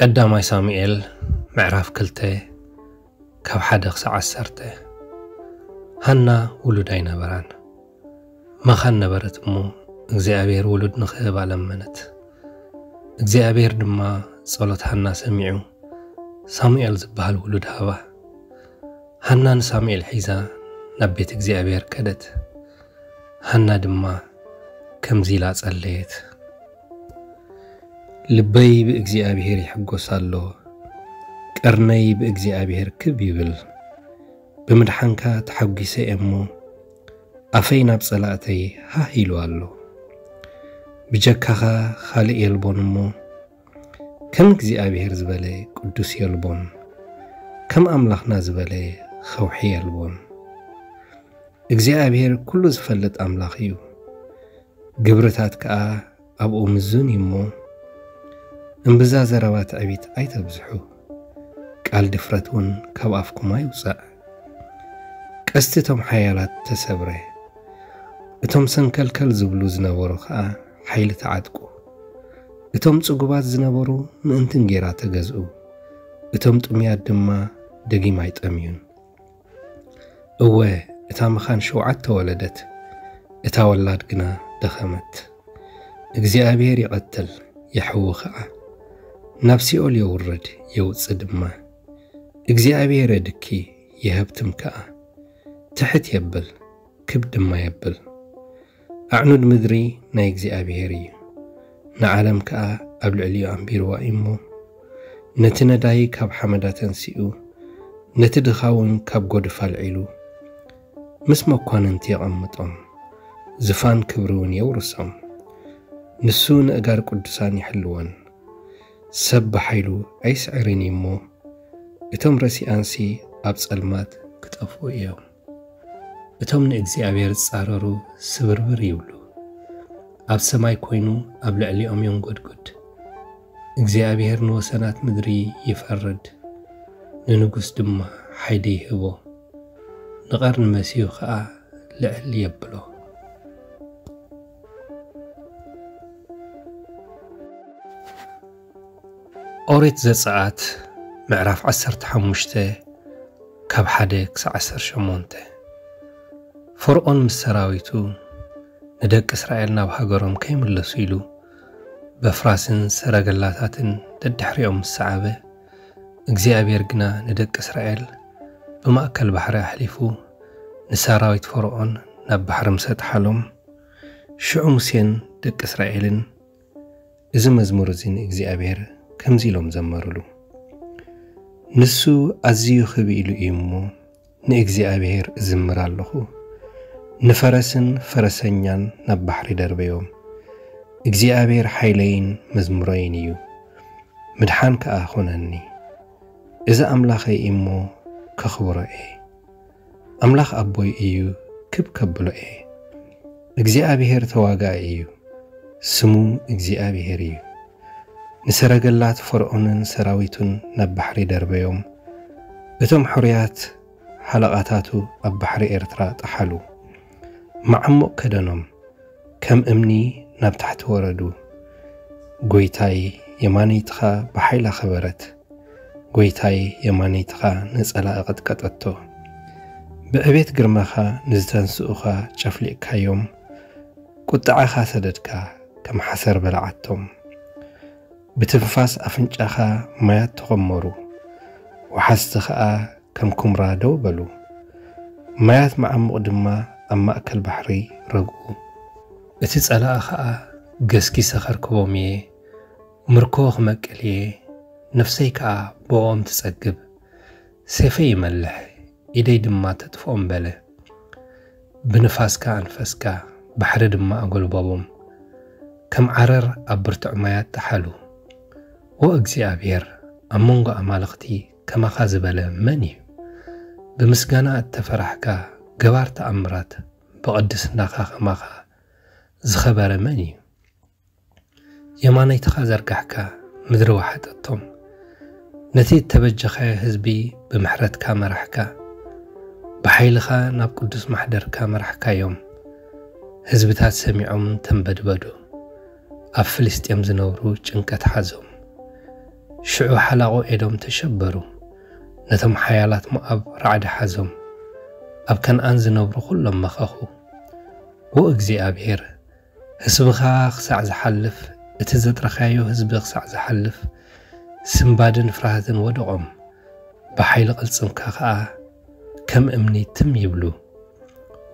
ቀዳማይ ሳሙኤል ምዕራፍ ክልተ ካብ ሓደ ክሳዕ ዓሰርተ። ሃና ውሉድ ኣይነበራን። መኻን ነበረት እሞ እግዚኣብሔር ውሉድ ንኽህባ ለመነት። እግዚኣብሔር ድማ ጸሎት ሃና ሰሚዑ ሳሙኤል ዝበሃል ውሉድ ሃባ። ሃና ንሳሙኤል ሒዛ ናብ ቤት እግዚኣብሔር ከደት። ሃና ድማ ከምዚ ኢላ ጸለየት። ልበይ ብእግዚኣብሔር ይሕጎስ ኣሎ፣ ቀርነይ ብእግዚኣብሔር ክብ ይብል። ብምድሓንካ ተሓጒሰ እየ እሞ፣ ኣፈይ ናብ ጸላእተይ ሃህ ኢሉ ኣሎ። ብጀካኻ ኻልእ የልቦን እሞ፣ ከም እግዚኣብሔር ዝበለ ቅዱስ የልቦን፣ ከም ኣምላኽና ዝበለ ኸውሒ የልቦን። እግዚኣብሔር ኩሉ ዝፈልጥ ኣምላኽ እዩ። ግብርታት ከኣ ኣብኡ ምዙን እዩ እሞ፣ እምብዛ ዘረባ ትዕቢት ኣይተብዝሑ፣ ቃል ድፍረት እውን ካብ ኣፍኩም ኣይውጻእ። ቀስቲ እቶም ሓያላት ተሰብረ፣ እቶም ሰንከልከል ዝብሉ ዝነበሩ ኸኣ ሓይሊ ተዓጥቁ። እቶም ጽጉባት ዝነበሩ ምእንቲ እንጌራ ተገዝኡ፣ እቶም ጥሙያት ድማ ደጊም ኣይጠምዩን። እወ፣ እታ መኻን ሸውዓተ ወለደት፣ እታ ወላድ ግና ደኸመት። እግዚኣብሔር ይቐትል፣ የሕዊ ኸኣ፣ ናብ ሲኦል የውርድ፣ የውጽእ ድማ። እግዚኣብሔር የድኪ፣ የሀብትም ከኣ፣ ትሕት የብል፣ ክብ ድማ የብል። ኣዕኑድ ምድሪ ናይ እግዚኣብሔር እዩ፣ ንዓለም ከኣ ኣብ ልዕሊኡ ኣንቢርዋ እዩ እሞ፣ ነቲ ነዳይ ካብ ሓመዳ ተንሲኡ፣ ነቲ ድኻ እውን ካብ ጐድፍ ኣልዒሉ፣ ምስ መኳንንቲ የቐምጦም፣ ዝፋን ክብሪ እውን የውርሶም። ንሱ ንእጋር ቅዱሳን ይሕልወን። ሰብ ብሓይሉ ኣይስዕርን እዩ እሞ፣ እቶም ረሲኣንሲ ኣብ ጸልማት ክጠፍኡ እዮም። እቶም ንእግዚኣብሔር ዝጻረሩ ስብርብር ይብሉ። ኣብ ሰማይ ኮይኑ ኣብ ልዕሊኦም የንጎድጉድ። እግዚኣብሔር ንወሰናት ምድሪ ይፈርድ፣ ንንጉስ ድማ ሓይሊ ይህቦ። ንቐርኒ መሲሁ ኸኣ ልዕል የብሎ። ኦሪት ዘጸኣት ምዕራፍ ዓሰርተ ሓሙሽተ ካብ ሓደ ክሳዕ ዓሰርተ ሸሞንተ። ፈርዖን ምስ ሰራዊቱ ንደቂ እስራኤል ናብ ሃገሮም ከይምለሱ ኢሉ በፍራስን ሰረገላታትን ደድሕሪኦም ምስ ሰዓበ፣ እግዚኣብሔር ግና ንደቂ እስራኤል ብማእከል ባሕሪ ኣሕሊፉ ንሰራዊት ፈርዖን ናብ ባሕሪ ምስ ኣጥሓሎም፣ ሽዑ ሙሴን ደቂ እስራኤልን እዚ መዝሙር እዚ ንእግዚኣብሔር ከምዚ ኢሎም ዘመሩሉ። ንሱ ኣዝዩ ክብ ኢሉ እዩ እሞ፣ ንእግዚኣብሔር እዝምር ኣለኹ። ንፈረስን ፈረሰኛን ናብ ባሕሪ ደርበዮም። እግዚኣብሔር ሓይለይን መዝሙረይን እዩ፣ ምድሓን ከኣ ኹነኒ። እዚ ኣምላኸይ እዩ እሞ፣ ከኽብሮ እየ። ኣምላኽ ኣቦይ እዩ፣ ክብ ከብሎ እየ። እግዚኣብሔር ተዋጋኢ እዩ፣ ስሙ እግዚኣብሔር እዩ። ንሰረገላት ፈርዖንን ሰራዊቱን ናብ ባሕሪ ደርበዮም። እቶም ሕሩያት ሓለቓታቱ ኣብ ባሕሪ ኤርትራ ጠሓሉ። መዓሙቕ ከደኖም፣ ከም እምኒ ናብ ታሕቲ ወረዱ። ጐይታይ፣ የማነይትኻ ብሓይላ ከበረት። ጐይታይ፣ የማነይትኻ ንጸላኢ ቀጥቀጠቶ። ብዕቤት ግርማኻ ንዝተንስኡኻ ጨፍሊቕካዮም። ቁጥዓኻ ሰደድካ፣ ከም ሓሰር በላዓቶም። ብትንፋስ ኣፍንጫኻ ማያት ተኾመሩ፣ ወሓዝቲ ኸኣ ከም ኩምራ ደው በሉ። ማያት መዓሙቕ ድማ ኣብ ማእከል ባሕሪ ረግኡ። እቲ ጸላኢ ኸኣ፣ ገስጊሰ ኸርክቦም እየ፣ ምርኮ ክመቅል እየ፣ ነፍሰይ ከኣ ብኦም ትጸግብ። ሴፈይ ይመልሕ፣ ኢደይ ድማ ተጥፍኦም በለ። ብንፋስካ ኣንፈስካ፣ ባሕሪ ድማ ኣጎልበቦም። ከም ዓረር ኣብ ብርቱዕ ማያት ጠሓሉ። ኦ እግዚኣብሔር፣ ኣብ መንጎ ኣማልኽቲ ከማኻ ዝበለ መን እዩ? ብምስጋና እተፈራሕካ፣ ገባር ተኣምራት፣ ብቕድስናኻ ከማኻ ዝኸበረ መን እዩ? የማነይትኻ ዘርጋሕካ፣ ምድሪ ወሓጠቶም። ነቲ እተበጀኻዮ ህዝቢ ብምሕረትካ መራሕካ። ብሓይልኻ ናብ ቅዱስ ማሕደርካ መራሕካዮም። ህዝብታት ሰሚዖም ተንበድበዱ። ኣብ ፍልስጤም ዝነብሩ ጭንቀት ሓዞም። ሽዑ ሓላቑ ኤዶም ተሸበሩ፣ ነቶም ሓያላት ሞኣብ ራዕዲ ሓዞም፣ ኣብ ከነኣን ዝነብሩ ኹሎም መኸኹ። ዎ እግዚኣብሔር፣ ህዝብኻ ክሳዕ ዝሓልፍ፣ እቲ ዘጥረኻዮ ህዝቢ ክሳዕ ዝሓልፍ፣ ስምባድን ፍርሃትን ወደቖም፣ ብሓይሊ ቅልጽምካ ኸኣ ከም እምኒ ትም ይብሉ።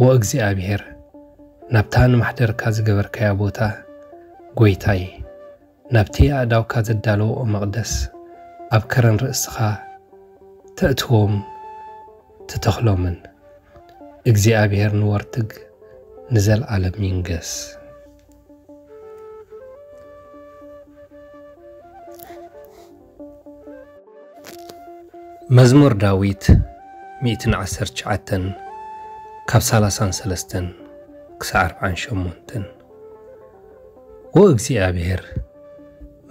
ዎ እግዚኣብሔር፣ ናብታ ንማሕደርካ ዝገበርካያ ቦታ፣ ጐይታይ፣ ናብቲ ኣእዳውካ ዘዳለውኦ መቕደስ፣ ኣብ ከረን ርእስኻ ተእትዎም ትተኽሎምን። እግዚኣብሔር ንወርትግ ንዘለዓለም ይንገስ። መዝሙር ዳዊት ሚእትን ዓሰርተ ትሽዓተን ካብ ሰላሳን ሰለስተን ክሳዕ ኣርብዓን ሸሞንተን። ዎ እግዚኣብሔር፣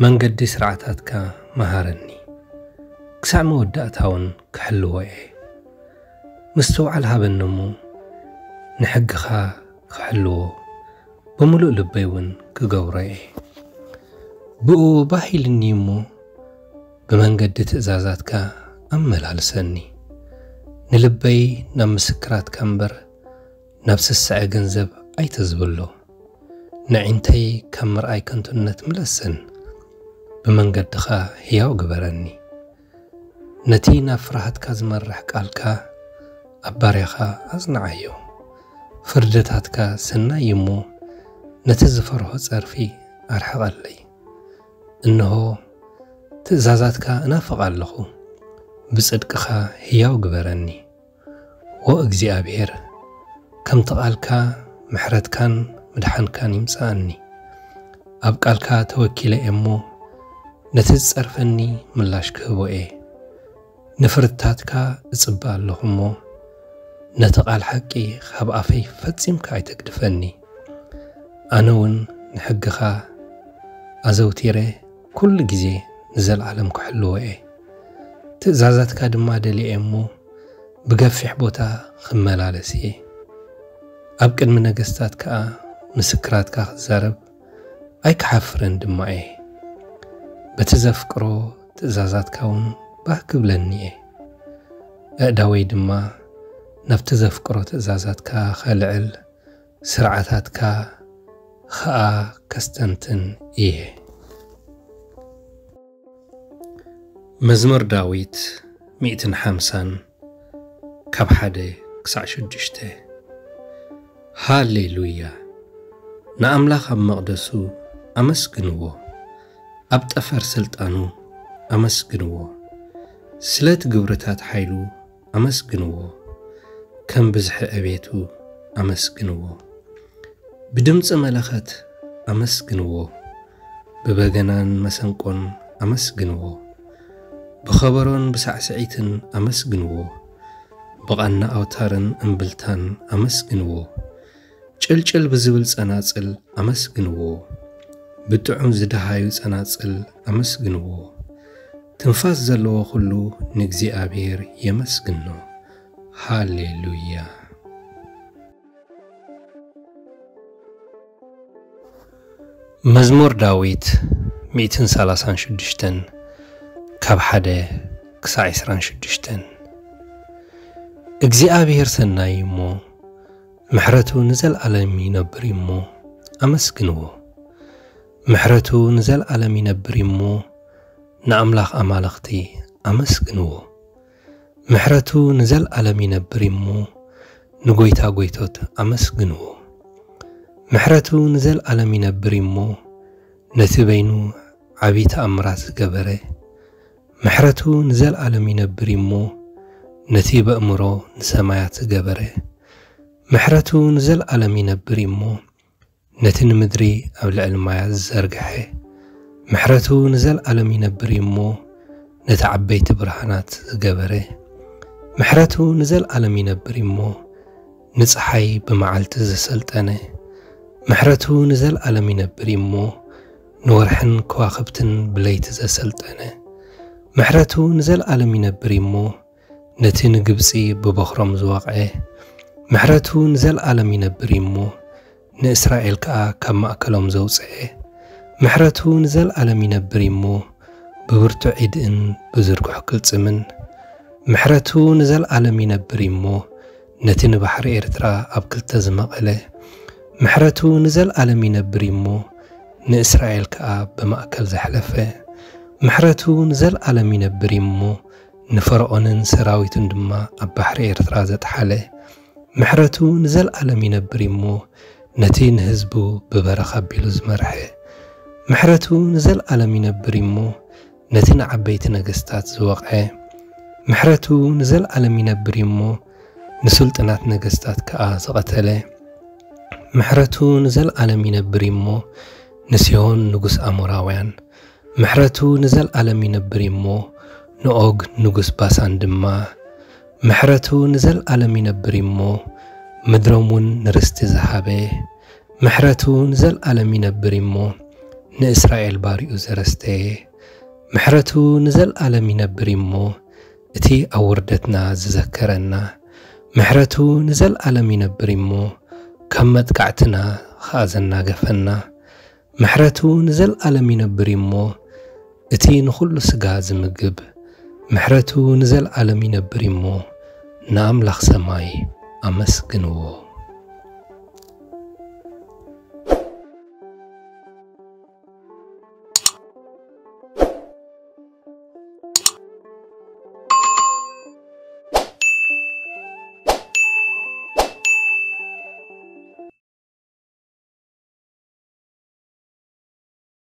መንገዲ ስርዓታትካ መሃረኒ፣ ክሳዕ መወዳእታውን ክሕልዎ እየ። ምስትውዓል ሃበኒ እሞ፣ ንሕግኻ ክሕልዎ፣ ብምሉእ ልበይ እውን ክገብሮ እየ። ብኡ ባህ ኢልኒ እሞ፣ ብመንገዲ ትእዛዛትካ ኣመላልሰኒ። ንልበይ ናብ ምስክራትካ እምበር፣ ናብ ስስዐ ገንዘብ ኣይተዝብሎ። ንዒንተይ ካብ ምርኣይ ከንቱነት ምለሰን፣ ብመንገድኻ ህያው ግበረኒ። ነቲ ናብ ፍርሃትካ ዝመርሕ ቃልካ ኣብ ባርያኻ ኣጽንዓዮ። ፍርድታትካ ሰናይ እዩ እሞ፣ ነቲ ዝፈርሆ ጸርፊ ኣርሕቐለይ። እንሆ፣ ትእዛዛትካ እናፍቕ ኣለኹ፣ ብጽድቅኻ ህያው ግበረኒ። ዎ እግዚኣብሔር፣ ከምቲ ቃልካ ምሕረትካን ምድሓንካን ይምጽኣኒ። ኣብ ቃልካ ተወኪለ እየ እሞ፣ ነቲ ዝጸርፈኒ ምላሽ ክህቦ እየ። ንፍርድታትካ እጽበ ኣለኹ እሞ፣ ነቲ ቃል ሓቂ ካብ ኣፈይ ፈጺምካ ኣይተግድፈኒ። ኣነ እውን ንሕግኻ ኣዘውቲረ፣ ኩሉ ግዜ ንዘለዓለም ክሕልዎ እየ። ትእዛዛትካ ድማ ደልየ እየ እሞ፣ ብገፊሕ ቦታ ክመላለስ እየ። ኣብ ቅድሚ ነገስታት ከኣ ምስክራትካ ክዛረብ ኣይክሓፍርን ድማ እየ። በቲ ዘፍቅሮ ትእዛዛትካ እውን ባህ ክብለኒ እየ። ኣእዳወይ ድማ ናብቲ ዘፍቅሮ ትእዛዛትካ ኸልዕል፣ ስርዓታትካ ኸኣ ከስተንትን እየ። መዝሙር ዳዊት ሚእትን ሓምሳን ካብ ሓደ ክሳዕ ሽዱሽተ። ሃሌሉያ! ንኣምላኽ ኣብ መቕደሱ ኣመስግንዎ፣ ኣብ ጠፈር ስልጣኑ ኣመስግንዎ። ስለቲ ግብርታት ሓይሉ ኣመስግንዎ፣ ከም ብዝሒ ዕቤቱ ኣመስግንዎ። ብድምጺ መለኸት ኣመስግንዎ፣ ብበገናን መሰንቆን ኣመስግንዎ፣ ብኸበሮን ብሳዕስዒትን ኣመስግንዎ፣ ብቓና ኣውታርን እምብልታን ኣመስግንዎ። ጭልጭል ብዝብል ጸናጽል ኣመስግንዎ፣ ብጥዑም ዝደሃዩ ጸናጽል ኣመስግንዎ። ትንፋስ ዘለዎ ኹሉ ንእግዚኣብሔር የመስግኖ። ሃሌሉያ። መዝሙር ዳዊት ሚእትን ሰላሳን ሽዱሽተን ካብ ሓደ ክሳዕ ዕስራን ሽዱሽተን። እግዚኣብሔር ሰናይ እዩ እሞ፣ ምሕረቱ ንዘለዓለም ይነብር እዩ እሞ፣ ኣመስግንዎ። ምሕረቱ ንዘለዓለም ይነብር እዩ እሞ፣ ንኣምላኽ ኣማልኽቲ ኣመስግንዎ። ምሕረቱ ንዘለዓለም ይነብር እዩ እሞ፣ ንጐይታ ጐይቶት ኣመስግንዎ። ምሕረቱ ንዘለዓለም ይነብር እዩ እሞ፣ ነቲ በይኑ ዓቢ ተኣምራት ዝገበረ። ምሕረቱ ንዘለዓለም ይነብር እዩ እሞ፣ ነቲ በእምሮ ንሰማያት ዝገበረ። ምሕረቱ ንዘለዓለም ይነብር እዩ እሞ፣ ነቲ ንምድሪ ኣብ ልዕሊ ማያት ዝዘርግሐ። ምሕረቱ ንዘለዓለም ይነብር እዩ እሞ፣ ነቲ ዓበይቲ ብርሃናት ዝገበረ። ምሕረቱ ንዘለዓለም ይነብር እዩ እሞ፣ ንጸሓይ ብመዓልቲ ዘሰልጠነ። ምሕረቱ ንዘለዓለም ይነብር እዩ እሞ፣ ንወርሕን ከዋኽብትን ብለይቲ ዘሰልጠነ። ምሕረቱ ንዘለዓለም ይነብር እዩ እሞ፣ ነቲ ንግብጺ ብበኹሮም ዝወቕዐ። ምሕረቱ ንዘለዓለም ይነብር እዩ እሞ፣ ንእስራኤል ከኣ ካብ ማእከሎም ዘውጽአ። ምሕረቱ ንዘለዓለም ይነብር እዩ እሞ፣ ብብርቱዕ ኢድን ብዝርጉሕ ቅልጽምን። ምሕረቱ ንዘልኣለም ይነብር እዩ'ሞ፣ ነቲ ንባሕሪ ኤርትራ ኣብ ክልተ ዝመቐለ። ምሕረቱ ንዘልኣለም ይነብር እዩ'ሞ፣ ንእስራኤል ከኣ ብማእከል ዘሕለፈ። ምሕረቱ ንዘልኣለም ይነብር እዩ'ሞ፣ ንፈርዖንን ሰራዊቱን ድማ ኣብ ባሕሪ ኤርትራ ዘጥሓለ። ምሕረቱ ንዘልኣለም ይነብር እዩ'ሞ፣ ነቲ ንህዝቡ ብበረኻ ኣቢሉ ዝመርሐ። ምሕረቱ ንዘልኣለም ይነብር እዩ'ሞ፣ ነቲ ንዓበይቲ ነገስታት ዝወቕዐ። ምሕረቱ ንዘልኣለም ይነብር እዩ'ሞ፣ ንስልጡናት ነገስታት ከኣ ዝቐተለ። ምሕረቱ ንዘልኣለም ይነብር እዩ'ሞ፣ ንሲሆን ንጉስ ኣሞራውያን። ምሕረቱ ንዘልኣለም ይነብር እዩ'ሞ፣ ንኦግ ንጉስ ባሳን ድማ። ምሕረቱ ንዘልኣለም ይነብር እዩ'ሞ፣ ምድሮም እውን ንርስቲ ዝሃበ። ምሕረቱ ንዘልኣለም ይነብር እዩ'ሞ፣ ንእስራኤል ባሪኡ ዘረስተየ። ምሕረቱ ንዘልኣለም ይነብር እዩ'ሞ፣ እቲ ኣብ ውርደትና ዝዘከረና። ምሕረቱ ንዘልኣለም ይነብር እዩ'ሞ፣ ካብ መጥቃዕትና ኸኣ ዘናገፈና። ምሕረቱ ንዘልኣለም ይነብር እዩ'ሞ፣ እቲ ንኹሉ ስጋ ዝምግብ። ምሕረቱ ንዘልኣለም ይነብር እዩ'ሞ፣ ንኣምላኽ ሰማይ ኣመስግንዎ።